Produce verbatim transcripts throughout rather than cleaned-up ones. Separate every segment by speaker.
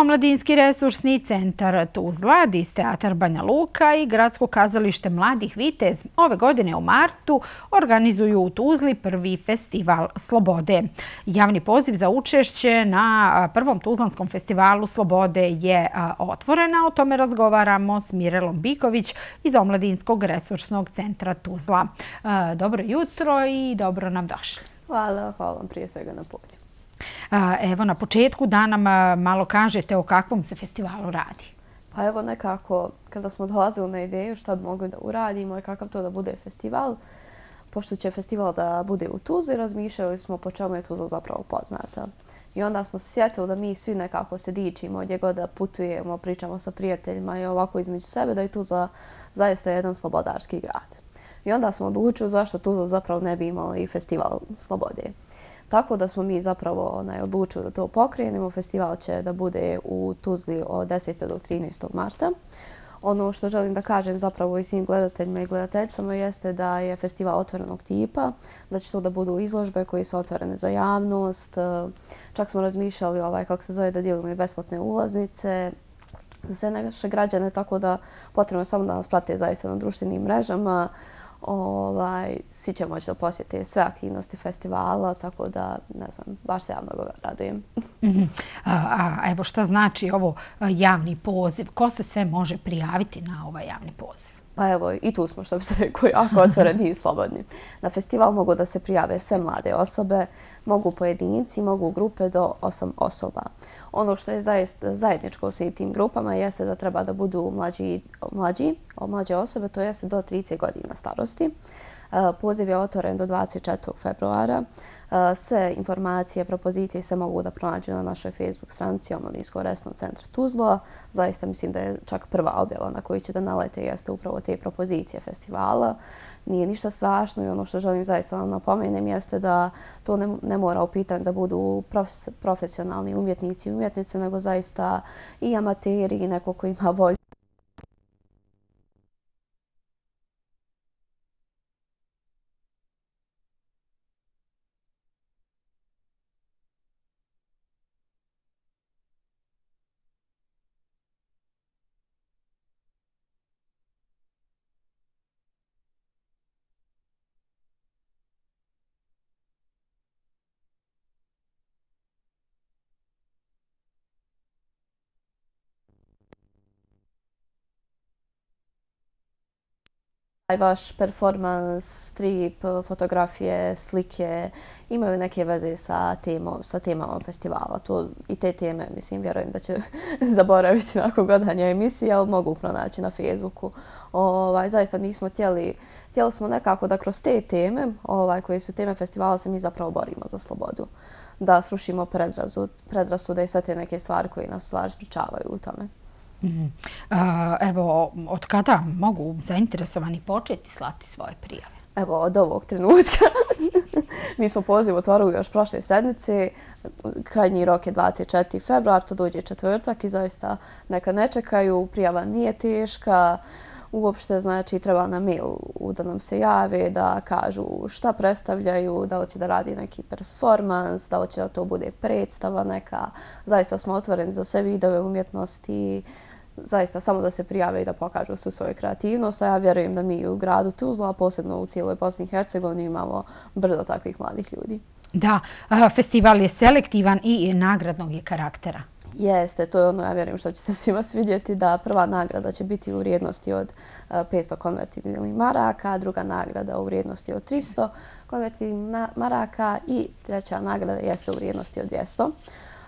Speaker 1: Omladinski resursni centar Tuzla, Dis teatar Banja Luka i Gradsko kazalište Mladih Vitez ove godine u martu organizuju u Tuzli prvi festival Slobode. Javni poziv za učešće na prvom Tuzlanskom festivalu Slobode je otvoren, a o tome razgovaramo s Mirelom Biković iz Omladinskog resursnog centra Tuzla. Dobro jutro i dobro nam došli.
Speaker 2: Hvala, hvala vam prije svega na pozivu.
Speaker 1: Evo, na početku da nam malo kažete o kakvom se festivalu radi.
Speaker 2: Pa evo nekako, kada smo dolazili na ideju šta bi mogli da uradimo i kakav to da bude festival, pošto će festival da bude u Tuzli, razmišljali smo po čemu je Tuzla zapravo poznata. I onda smo se sjetili da mi svi nekako se dičimo, gdje god da putujemo, pričamo sa prijateljima i ovako između sebe, da je Tuzla zaista jedan slobodarski grad. I onda smo odlučili zašto Tuzla zapravo ne bi imala i festival Slobode. Tako da smo mi zapravo onaj, odlučili da to pokrenemo. Festival će da bude u Tuzli od desetog do trinaestog marta. Ono što želim da kažem zapravo i svim gledateljima i gledateljicama jeste da je festival otvorenog tipa, da će to da budu izložbe koje su otvorene za javnost. Čak smo razmišljali ovaj, kako se zove, da dijelimo i besplatne ulaznice za sve naše građane, tako da potrebno je samo da nas prate zaista na društvenim mrežama. Ovaj, svi će moći da posjete sve aktivnosti festivala, tako da, ne znam, baš se ja mnogo radujem.
Speaker 1: a, a evo šta znači ovo javni poziv? Ko se sve može prijaviti na ovaj javni poziv?
Speaker 2: Pa evo, i tu smo, što bi se rekao, jako otvoreni i slobodni. Na festival mogu da se prijave sve mlade osobe, mogu pojedinci, mogu grupe do osam osoba. Ono što je zaista zajedničko u svim tim grupama jeste da treba da budu mlađi, mlađi, mlađe osobe, to jeste do trideset godina starosti. Poziv je otvoren do dvadeset četvrtog februara. Sve informacije, propozicije se mogu da pronađu na našoj Facebook stranici Omladinskog resursnog centra Tuzla. Zaista mislim da je čak prva objava na koju će da nalete jeste upravo te propozicije festivala. Nije ništa strašno i ono što želim zaista da napomenem jeste da to ne, ne mora u pitanju da budu profes, profesionalni umjetnici i umjetnice, nego zaista i amateri i neko ko ima volju. Vaš performans, strip, fotografije, slike imaju neke veze sa, temo, sa temama festivala. To, I te teme, mislim, vjerujem da će zaboraviti nakon gledanja emisije, ali mogu pronaći na Facebooku. Ovaj, zaista nismo htjeli, htjeli smo nekako da kroz te teme, ovaj, koje su teme festivala, se mi zapravo borimo za slobodu. Da srušimo predrasude i sve te neke stvari koje nas stvari sprečavaju u tome.
Speaker 1: Mm. Evo, od kada mogu zainteresovani početi slati svoje prijave?
Speaker 2: Evo, od ovog trenutka. Mi smo poziv otvorili još prošle sedmice. Krajnji rok je dvadeset četvrti februar, to dođe četvrtak i zaista neka ne čekaju. Prijava nije teška. Uopšte, znači, treba na mail da nam se jave, da kažu šta predstavljaju, da hoće da radi neki performans, da hoće da to bude predstava neka. Zaista smo otvoreni za sve vidove umjetnosti. Zaista samo da se prijave i da pokažu svu svoju kreativnost. A ja vjerujem da mi u gradu Tuzla, posebno u cijeloj Bosni i Hercegovini, imamo brdo takvih mladih ljudi.
Speaker 1: Da, festival je selektivan i nagradnog je karaktera.
Speaker 2: Jeste, to je ono, ja vjerujem što će se svima svidjeti, da prva nagrada će biti u vrijednosti od petsto konvertibilnih maraka, druga nagrada u vrijednosti od tristo konvertibilnih maraka i treća nagrada jeste u vrijednosti od dvjesto.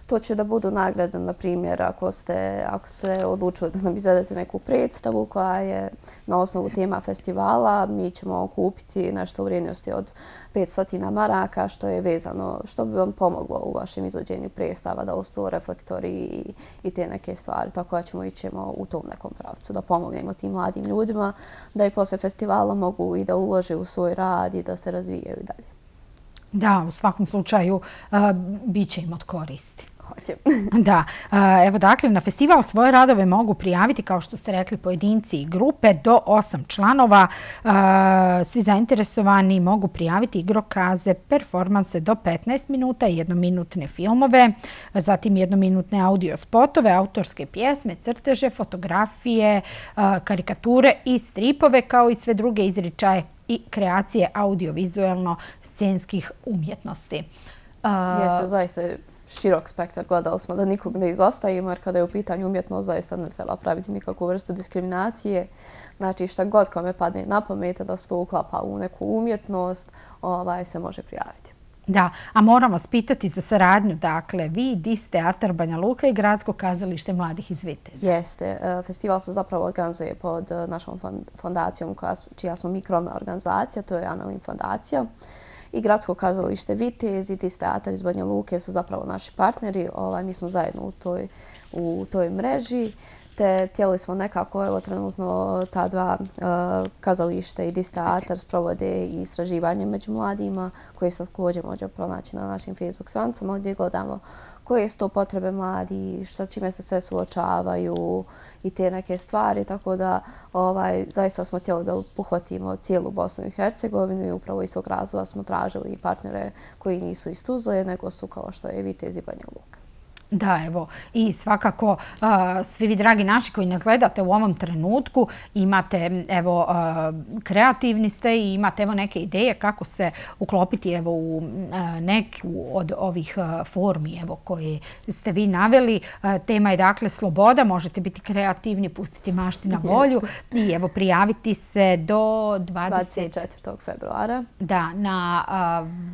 Speaker 2: To će da budu nagrade, na primjer, ako ste, ako se odlučili da nam izvedete neku predstavu koja je na osnovu tema festivala, mi ćemo kupiti nešto u vrijednosti od petsto maraka, što je vezano, što bi vam pomoglo u vašem izvođenju predstava, da ostaju reflektori i, i te neke stvari. Tako da ćemo ićemo u tom nekom pravcu, da pomognemo tim mladim ljudima, da i posle festivala mogu i da ulože u svoj rad i da se razvijaju dalje.
Speaker 1: Da, u svakom slučaju uh, bit će im od koristi.
Speaker 2: hoće.
Speaker 1: Da, evo dakle, na festival svoje radove mogu prijaviti, kao što ste rekli, pojedinci i grupe do osam članova. Svi zainteresovani mogu prijaviti igrokaze, performanse do petnaest minuta, jednominutne filmove, zatim jednominutne audio spotove, autorske pjesme, crteže, fotografije, karikature i stripove, kao i sve druge izričaje i kreacije audiovizualno-scenskih umjetnosti.
Speaker 2: Jeste, zaista je širok spektar. Gledali smo da nikog ne izostavimo, jer kada je u pitanju umjetnost, zaista ne treba praviti nikakvu vrstu diskriminacije. Znači, šta god kome padne na pamet da se to uklapa u neku umjetnost, ovaj, se može prijaviti.
Speaker 1: Da, a moram vas pitati za saradnju. Dakle, vi, Dis teatar Banja Luka i Gradsko kazalište mladih iz Viteza.
Speaker 2: Jeste. Festival se zapravo organizuje pod našom fondacijom, čija smo mi krovna organizacija, to je Analin fondacija. I Gradsko kazalište Vitez i Dis teatar iz Banja Luke su zapravo naši partneri. Ovaj, mi smo zajedno u toj, u toj mreži. Te htjeli smo nekako, evo trenutno ta dva uh, kazalište i Dis teatar sprovode i istraživanje među mladima, koje se također može pronaći na našim Facebook stranicama, gdje gledamo koje su to potrebe mladi, sa čime se sve suočavaju i te neke stvari. Tako da ovaj, zaista smo htjeli da pohvatimo cijelu Bosnu i Hercegovinu i upravo iz tog razloga smo tražili i partnere koji nisu iz Tuzle, nego su kao što je Vitez i Banja Luka.
Speaker 1: Da, evo, i svakako svi vi, dragi naši koji nas gledate u ovom trenutku, imate, evo, kreativni ste i imate, evo, neke ideje kako se uklopiti, evo, u neku od ovih formi, evo, koje ste vi naveli. Tema je, dakle, sloboda, možete biti kreativni, pustiti mašti na volju i, evo, prijaviti se do
Speaker 2: dvadeset četvrtog februara.
Speaker 1: Da, na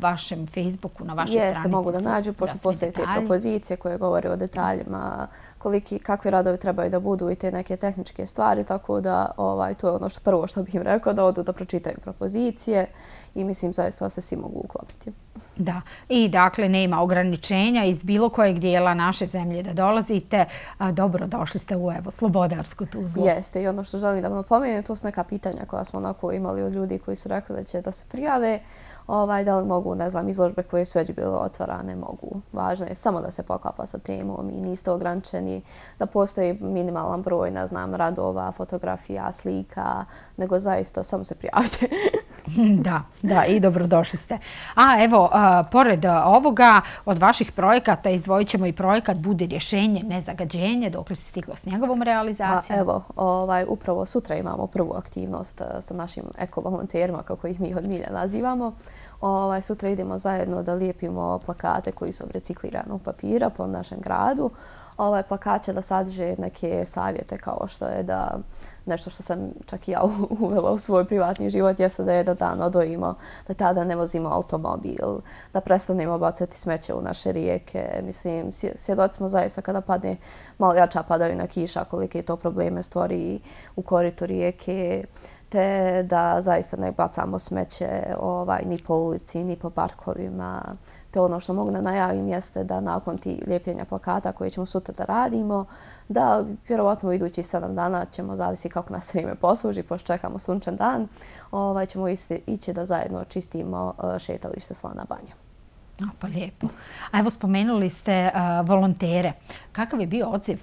Speaker 1: vašem Facebooku, na vašoj stranici.
Speaker 2: Jeste, mogu da nađu, pošto postoje te propozicije koje govori o detaljima, koliki, kakvi radovi trebaju da budu i te neke tehničke stvari, tako da ovaj, to je ono što prvo što bih im rekao, da odu da pročitaju propozicije i mislim zaista da se svi mogu uklopiti.
Speaker 1: Da, i dakle nema ograničenja iz bilo kojeg dijela naše zemlje da dolazite. Dobro, došli ste u, evo, Slobodarsku Tuzlu.
Speaker 2: Jeste, i ono što želim da vam napomenem, to su neka pitanja koja smo onako imali od ljudi koji su rekli da će da se prijave. Ovaj, da li mogu, ne znam, izložbe koje su već bile otvarane, mogu. Važno je samo da se poklapa sa temom i niste ograničeni, da postoji minimalan broj, ne znam, radova, fotografija, slika, nego zaista samo se prijavite.
Speaker 1: Da, da, i dobrodošli ste. A evo, a, pored ovoga, od vaših projekata izdvojit ćemo i projekat Bude rješenje, nezagađenje, dok li se stiglo s njegovom realizacijom?
Speaker 2: A, evo, ovaj, upravo sutra imamo prvu aktivnost sa našim eko-volonterima, kako ih mi od milja nazivamo. Ovaj, sutra idemo zajedno da lijepimo plakate koji su od recikliranog papira po našem gradu. Ovaj plakat će da sadrže neke savjete kao što je da nešto što sam čak i ja uvela u svoj privatni život jeste da jedan dan odvojimo, da tada ne vozimo automobil, da prestanemo bacati smeće u naše rijeke. Mislim, svjedoci smo zaista kada padne malo jača padavina kiša, kolike to probleme stvori u koritu rijeke, te da zaista ne bacamo smeće ovaj, ni po ulici, ni po parkovima. To ono što mogu da najavim jeste da nakon ti lijepljenja plakata koje ćemo sutra da radimo, da vjerovatno u idućih sedam dana ćemo, zavisi kako nas vrijeme posluži, pošto čekamo sunčan dan, ovaj, ćemo ići da zajedno čistimo šetalište Slana Banja.
Speaker 1: O, pa lijepo. A evo, spomenuli ste uh, volontere. Kakav je bio odziv?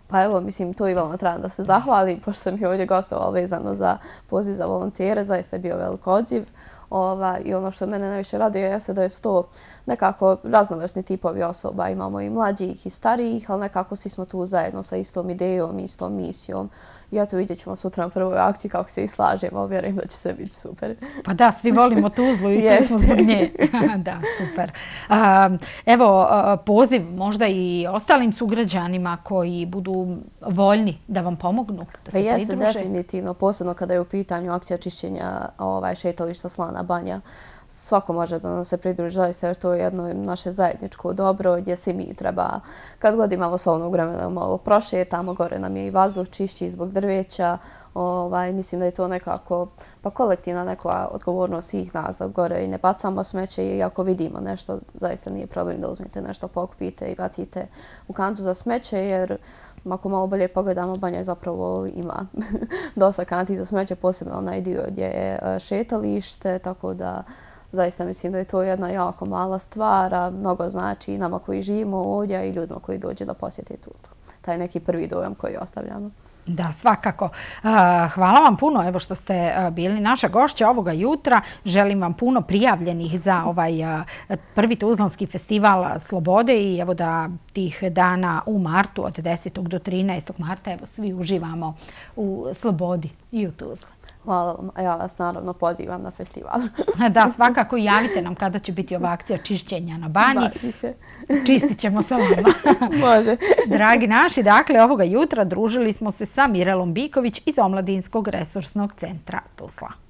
Speaker 2: Pa evo, mislim, to i vama trebam da se zahvalim, pošto sam i ovdje gostovala vezano za poziv za volontere, zaista je bio velik odziv. Ova, I ono što mene najviše raduje jeste da je to nekako raznovrsni tipovi osoba. Imamo i mlađih i starijih, ali nekako svi smo tu zajedno sa istom idejom, istom misijom. I eto, vidjet ćemo sutra na prvoj akciji kako se i slažemo. Vjerujem da će sve biti super.
Speaker 1: Pa da, svi volimo Tuzlu i tu smo zbog nje. Da, super. Um, evo, poziv možda i ostalim sugrađanima koji budu voljni da vam pomognu, da se
Speaker 2: pa
Speaker 1: pridruže.
Speaker 2: Jeste, definitivno. Posebno kada je u pitanju akcija čišćenja ovaj, šetališta Slana Banja. Svako može da nam se pridruži, zaista, jer to je jedno naše zajedničko dobro gdje svi mi treba, kad god imamo slobodnog vremena, malo prošetamo, gore nam je i vazduh čišći zbog drveća. Ovaj, mislim da je to nekako pa kolektivna neka odgovornost svih nas da gore i ne bacamo smeće i ako vidimo nešto, zaista nije problem da uzmete nešto, pokupite i bacite u kantu za smeće, jer ako malo bolje pogledamo, Banja zapravo ima dosta kanti za smeće, posebno onaj dio gdje je šetalište, tako da Zaista mislim da je to jedna jako mala stvar, a mnogo znači i nama koji živimo ovdje i ljudima koji dođe da posjete Tuzlu. Taj neki prvi dojam koji ostavljamo.
Speaker 1: Da, svakako. Hvala vam puno evo što ste bili naša gošća ovoga jutra. Želim vam puno prijavljenih za ovaj prvi Tuzlanski festival slobode i evo da tih dana u martu od desetog do trinaestog marta evo svi uživamo u slobodi i u Tuzli.
Speaker 2: Hvala vam, a ja vas naravno pozivam na festival.
Speaker 1: Da, svakako javite nam kada će biti ova akcija čišćenja na banji.
Speaker 2: Baži se.
Speaker 1: Čistit ćemo sa vama.
Speaker 2: Može.
Speaker 1: Dragi naši, dakle, ovoga jutra družili smo se sa Mirelom Biković iz Omladinskog resursnog centra Tuzla.